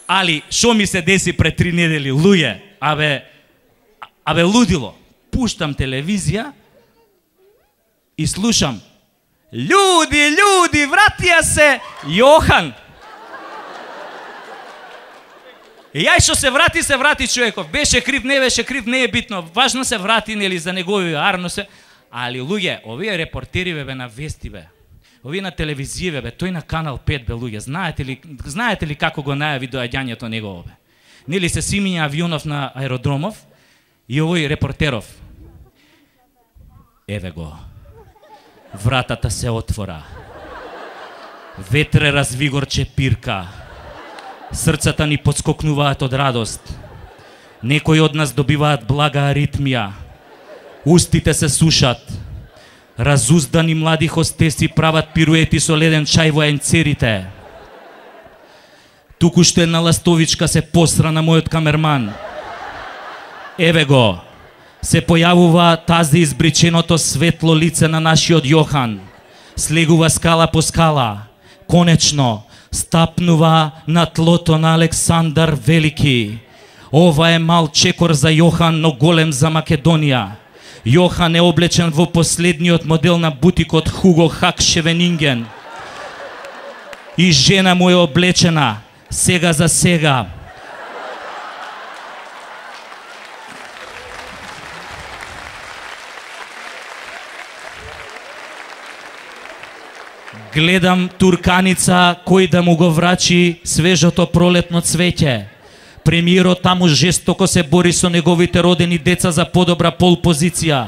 али шо ми се деси пред 3 недели, луѓе, абе лудило. Пуштам телевизија и слушам: Ljudi, вратија се Јохан. И јај што се врати човеков. Беше крив, не беше крив, не е битно. Важно се врати, нели, за негови арно се. Али луѓе, овие репортери бе на вести бе. Овие на телевизија бе, тој на Канал 5 бе луѓе. Знаете ли како го најави доаѓањето негово бе? Нели се симиња авионов на аеродромов и овој репортеров. Еве го. Вратата се отвора. Ветре развигорче пирка. Срцата ни подскокнуваат од радост. Некои од нас добиваат блага аритмија. Устите се сушат. Разуздани млади хостеси прават пируети со леден чај во енцерите. Туку што една ластовичка се посра на мојот камерман. Еве го. Се појавува тази избриченото светло лице на нашиот Јохан. Слегува скала по скала. Конечно, стапнува на тлото на Александар Велики. Ова е мал чекор за Јохан, но голем за Македонија. Јохан е облечен во последниот модел на бутикот Хуго Хак Шевенинген. И жена му е облечена, сега за сега. Гледам турканица кој да му го врачи свежото пролетно цвеќе. Премиерот таму жестоко се бори со неговите родени деца за подобра пол позиција.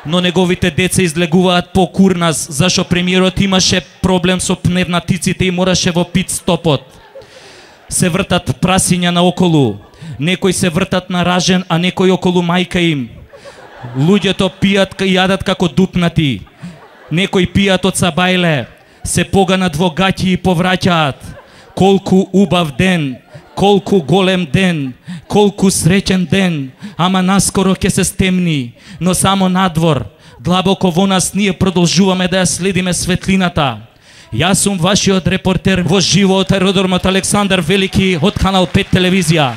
Но неговите деца излегуваат по курнас, зашо премиерот имаше проблем со пневматиците и мораше во пит стопот. Се вртат прасиња наоколу. Некои се вртат на ражен, а некои околу мајка им. Луѓето пијат и јадат како дупнати. Некои пијат од сабајле. Се поганат во гаќи и повраќаат. Колку убав ден, колку голем ден, колку среќен ден, ама наскоро ќе се стемни, но само надвор, длабоко во нас ние продолжуваме да ја следиме светлината. Јас сум вашиот репортер во живо од аеродромот Александар Велики од Канал 5 телевизија.